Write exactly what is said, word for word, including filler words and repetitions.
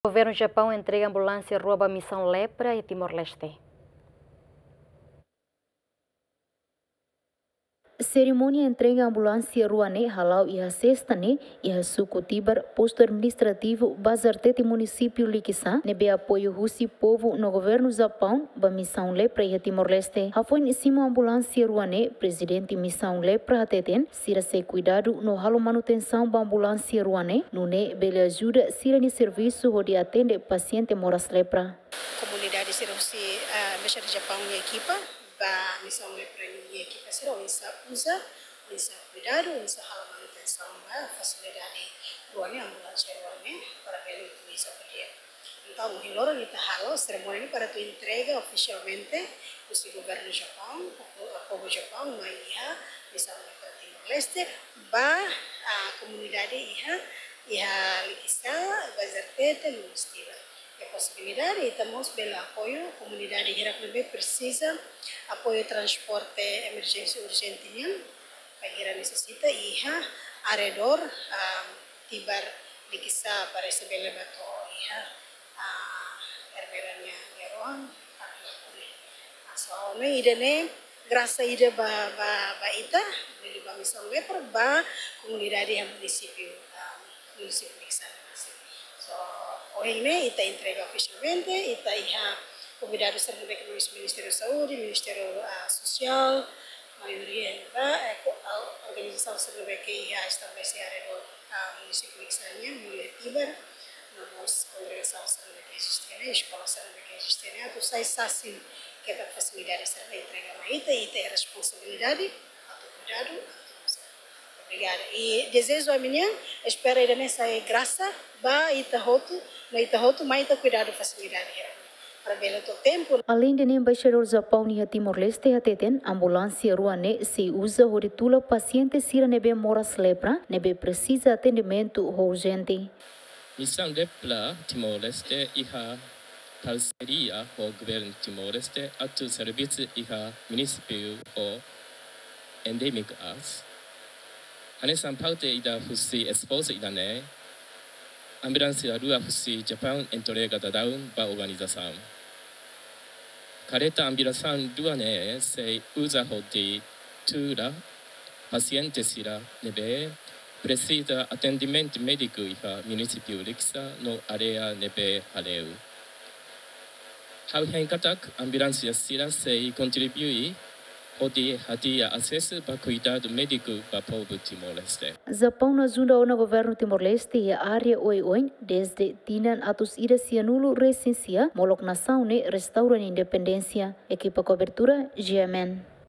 Governu Japaun entrega ambulánsia rua ba misaun lepra iha Timor-Leste. Serimónia entrega ambulánsia rua ne'e hala'o iha sesta ne'e, iha suku Tibar, postu administrativu Bazartete, munisípiu Likisá, ne'ebé apoiu husi povu no governu Japaun ba misaun lepra iha Timor-Leste. Hafoin simu ambulánsia rua ne'e, prezidente misaun lepra hateten, sira sei kuidadu no halo manutensaun ba ambulánsia rua ne'e, nune'e bele ajuda sira-nia servisu hodi atende pasiente moras lepra. Komunidade sira husi, ah, Embaixada Japaun nia ekipa, ba misaun lepra nia ekipa sira oinsá uza, oinsá kuidadu, oinsá halo manutensaun ba fasilidade rua ne'e, ambulánsia rua ne'e, para bele utiliza ba di'ak. Entaun, ohin loron ita halo serimónia ne'e para atu entrega ofisialmente husi governu Japaun, ho, ho povu Japaun, mai iha misaun lepra Timor-Leste, ba, ah, komunidade iha, iha Likisá, Bazartete, no mós Tibar. Iha posibilidade, ita mós bele apoiu komunidade hirak ne'ebé presiza apoiu transporte emerjénsia urjente nian, bainhira nesesita iha arredór, ah, Tibar, Likisá, para ita bele bá to'o iha, ah, Ermera nia, nia rohan, atu lakune. Ah, so, ne'e ida-ne'e grasa ida ba, ba, ba ita, liuliu ba misaun lepra, ba komunidade iha munisípiu, ah, munisípiu Likisá. So, ohin ne'e ita entrega ofisialmente, ita iha konvidadu sira ne'ebé ke husi Ministériu Saúde, Ministériu, ah, Sosiál, maioria ne'ebá, eh, ko-, ah, organizasaun sira ne'ebé ke iha estabelese arredór, ah, munisípiu Likisá nian, liuliu Tibar, no mós kongregasaun sira ne'ebé ke eziste ne'e, eskola sira ne'ebé ke eziste ne'e, atu sai sasin ketak fasilidade sira ne'e entrega mai ita, ita iha responsabilidade atu kuidadu, atu uza. Obrigada. I dezeju ami-nian, espera ida-ne'e sai grasa ba ita hotu, no ita hotu mai ita kuidadu fasilidade hirak ne'e. Para bele to'o tempu. Aleinde ne'e, Embaixadór Japaun iha Timor-Leste hateten, ambulánsia rua ne'e sei uza hodi tula pasiente sira ne'ebé moras lepra, ne'ebé presiza atendimentu urjente. Misaun lepra Timor-Leste iha parseria ho governu Timor-Leste atu servisu iha munisípiu ho endémiku aas. Hanesan parte ida husi esforsu ida-ne'e, ambulánsia rua husi Japaun entrega daudaun ba organizasaun. Kareta ambulánsia rua ne'e sei uza hodi tula pasiente sira ne'ebé presiza atendimentu médiku iha munisípiu Likisá no área ne'ebé hale'u. Ha'u hein katak ambulánsia sira sei kontribui hodi hadi'a asesu ba kuidadu médiku ba povu Timor-Leste. Japaun ajuda ona governu Timor-Leste iha área oioin dezde tinan atus ida sianulu resin sia, molok nasaun ne'e restaura nia independénsia. Ekipa kobertura, G M N.